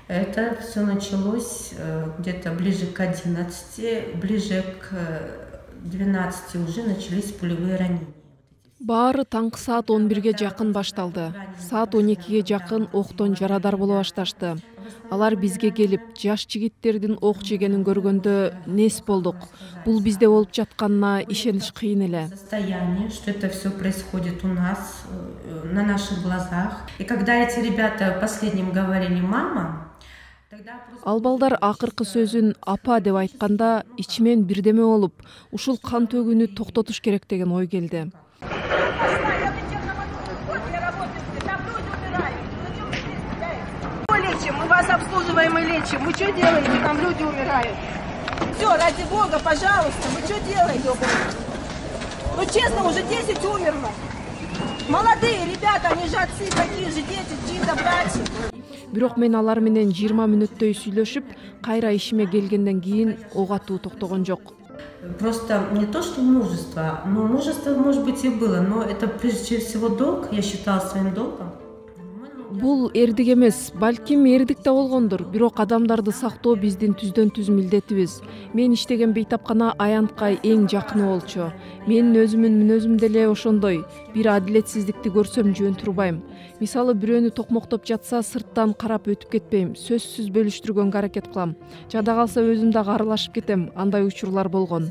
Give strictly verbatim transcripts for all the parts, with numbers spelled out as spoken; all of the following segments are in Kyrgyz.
Это все началось где-то ближе к одиннадцати, ближе к двенадцати уже начались пулевые ранения. Баары таңкы саат он бирге жакын башталды. Саат он экиге жакын октон жарадар боло башташты. Алар бизге келип, жаш жигиттердин ок жегенин көргөндө нес болдук. Бул бизде болуп жатканына ишениш кыйын эле. Состояние, что это все происходит у нас на наших глазах. И когда эти ребята последним говорили мама, Ал балдар акыркы сөзүн апа деп айтканда ичимен бирдеме болуп, ушул кан төгүүнү токтотуш керек деген ой келди. Мы вас обслуживаем и лечим. Вы что делаете? Там люди умирают. Все, ради Бога, пожалуйста, вы что делаете? Ну честно, уже десять умерло. Молодые ребята, они же отцы, такие же дети, чьи-то братья. Бирок мен алар менен жыйырма мүнөттөй сүйлөшүп, кайра ишиме келгенден кийин ок атуу токтогон жок. Просто не то, что мужество, но мужество, может быть, и было, но это прежде всего долг, я считала своим долгом. Бул эрдик эмес, балким эрдик да болгондур, бирок адамдарды сактоо биздин түздөн түз милдетибиз. Мен иштеген бейтапкана аянтка эң жакыны болчу. Менин өзүмүн мүнөзүм деле ошондой. Бир адилетсиздикти көрсөм жөн турбайм. Мисалы бирөөнү токмоктоп жатса, сырттан карап өтүп кетпейм, сөзсүз бөлүштүргөнгө аракет кылам. Жада калса өзүм дагы аралашып кетем, андай учурлар болгон.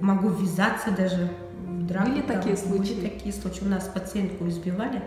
Могу ввязаться даже в драку. Были такие случаи? Были такие случаи. У нас пациентку избивали.